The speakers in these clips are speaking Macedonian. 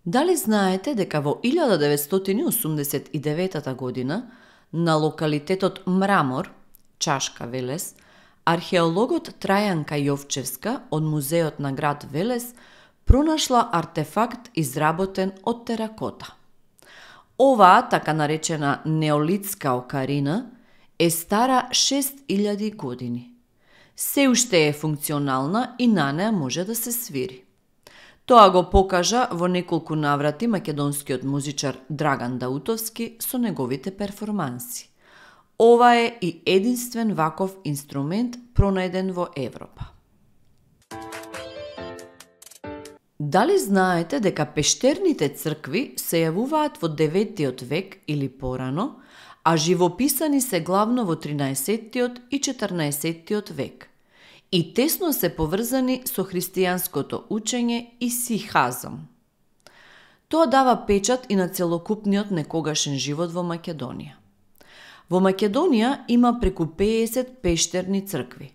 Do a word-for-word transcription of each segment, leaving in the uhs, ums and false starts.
Дали знаете дека во илјада деветстотини осумдесет и девета година на локалитетот Мрамор, Чашка, Велес, археологот Трајанка Јовчевска од музеот на град Велес пронашла артефакт изработен од теракота. Оваа така наречена неолитска окарина е стара шест илјади години. Се уште е функционална и на неа може да се свири. Тоа го покажа во неколку наврати македонскиот музичар Драган Даутовски со неговите перформанси. Ова е и единствен ваков инструмент пронајден во Европа. Дали знаете дека пештерните цркви се јавуваат во деветиот век или порано, а живописани се главно во тринаесеттиот и четрнаесеттиот век и тесно се поврзани со христијанското учење и сихазм. Тоа дава печат и на целокупниот некогашен живот во Македонија. Во Македонија има преку пеесет пештерни цркви,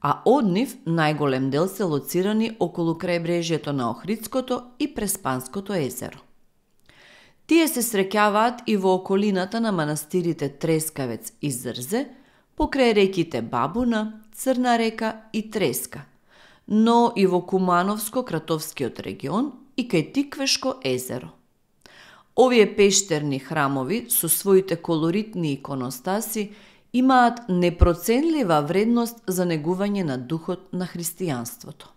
а од нив најголем дел се лоцирани околу крајбрежјето на Охридското и Преспанското езеро. Тие се среќаваат и во околината на манастирите Трескавец и Зрзе, покрај реките Бабуна, Црна река и Треска, но и во Кумановско-Кратовскиот регион и кај Тиквешко езеро. Овие пештерни храмови со своите колоритни иконостаси имаат непроценлива вредност за негување на духот на христијанството.